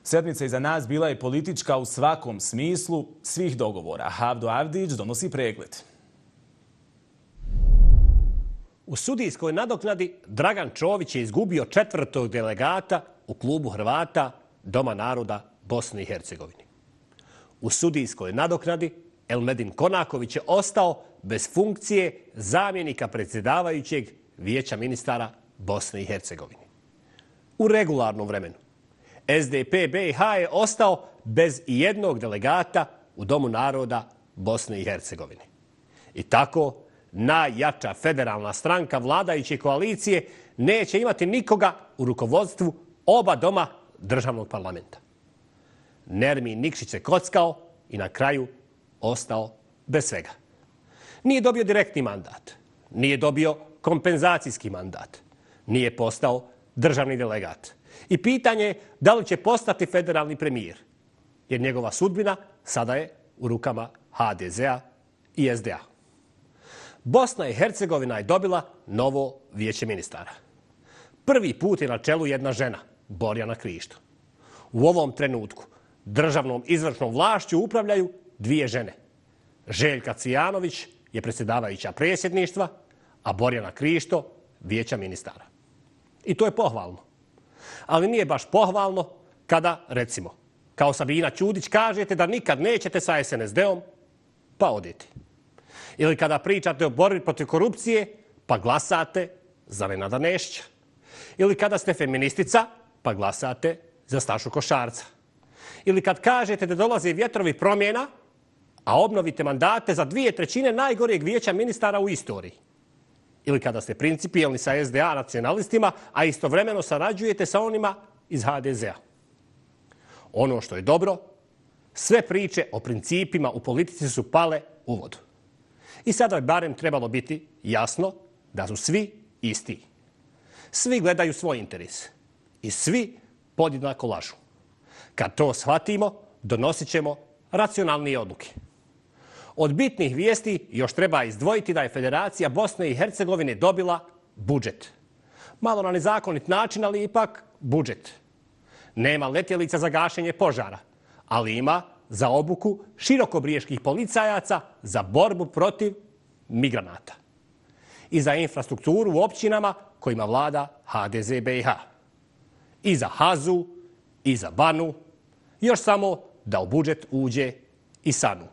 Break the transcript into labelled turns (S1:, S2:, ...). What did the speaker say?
S1: Sedmica iza nas bila je politička u svakom smislu svih dogovora. Avdo Avdić donosi pregled.
S2: U sudijskoj nadoknadi Dragan Čović je izgubio 4. delegata u klubu Hrvata Doma naroda Bosne i Hercegovine. U sudijskoj nadoknadi Elmedin Konaković je ostao bez funkcije zamjenika predsjedavajućeg Vijeća ministara Bosne i Hercegovine. U regularnom vremenu SDP BiH je ostao bez ijednog delegata u Domu naroda Bosne i Hercegovine. I tako najjača federalna stranka vladajuće koalicije neće imati nikoga u rukovodstvu oba doma državnog parlamenta. Nermin Nikšić se kockao i na kraju ostao bez svega. Nije dobio direktni mandat, nije dobio kompenzacijski mandat, nije postao državni delegat. I pitanje je da li će postati federalni premijer, jer njegova sudbina sada je u rukama HDZ-a i SDA. Bosna i Hercegovina je dobila novo vijeće ministara. Prvi put je na čelu jedna žena, Borjana Krišto. U ovom trenutku državnom izvršnom vlašću upravljaju dvije žene. Željka Cvijanović je predsjedavajuća predsjedništva, a Borjana Krišto vijeća ministara. I to je pohvalno. Ali nije baš pohvalno kada, recimo, kao Sabina Ćudić kažete da nikad nećete sa SNSD-om, pa odete. Ili kada pričate o borbi protiv korupcije, pa glasate za Nenada Nešića. Ili kada ste feministica, pa glasate za Stašu Košarca. Ili kad kažete da dolaze vjetrovi promjena, a obnovite mandate za 2/3 najgoreg vijeća ministara u istoriji. Ili kada ste principijelni sa SDA nacionalistima, a istovremeno sarađujete sa onima iz HDZ-a. Ono što je dobro, sve priče o principima u politici su pale u vodu. I sada je barem trebalo biti jasno da su svi isti. Svi gledaju svoj interes i svi podjednako lažu. Kad to shvatimo, donosit ćemo racionalnije odluke. Od bitnih vijesti još treba izdvojiti da je Federacija Bosne i Hercegovine dobila budžet. Malo na nezakonit način, ali ipak budžet. Nema letjelica za gašenje požara, ali ima za obuku širokobrijeških policajaca za borbu protiv migranata. I za infrastrukturu u općinama kojima vlada HDZ BiH. I za Hazu, i za Banu, još samo da u budžet uđe i Sanu.